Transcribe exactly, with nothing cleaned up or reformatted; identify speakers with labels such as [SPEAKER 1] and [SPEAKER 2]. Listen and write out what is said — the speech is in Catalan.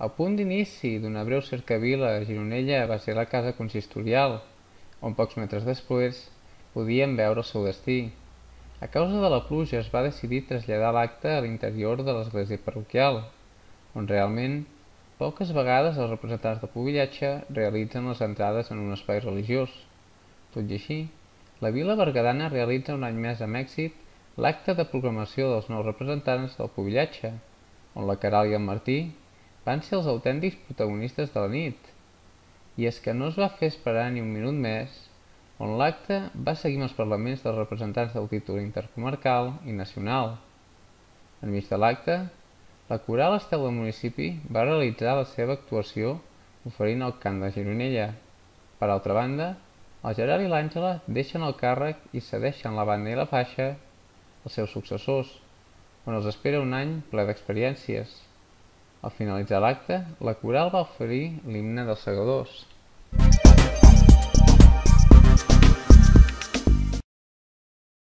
[SPEAKER 1] El punt d'inici d'una breu cercavila a Gironella va ser la casa consistorial, on pocs metres després podíem veure el seu destí. A causa de la pluja es va decidir traslladar l'acte a l'interior de l'església parroquial, on realment poques vegades els representants del pubillatge realitzen les entrades en un espai religiós. Tot i així, la vila berguedana realitza un any més amb èxit l'acte de proclamació dels nous representants del pubillatge, on la Queralt i el Martí van ser els autèntics protagonistes de la nit. I és que no es va fer esperar ni un minut més, on l'acte va seguir amb els parlaments dels representants del títol intercomarcal i nacional. Enmig de l'acte, la Coral Estel del municipi va realitzar la seva actuació oferint el cant de Gironella. Per altra banda, el Gerard i l'Àngela deixen el càrrec i cedeixen la banda i la faixa als seus successors, on els espera un any ple d'experiències. Al finalitzar l'acte, la Coral va oferir l'himne dels Segadors.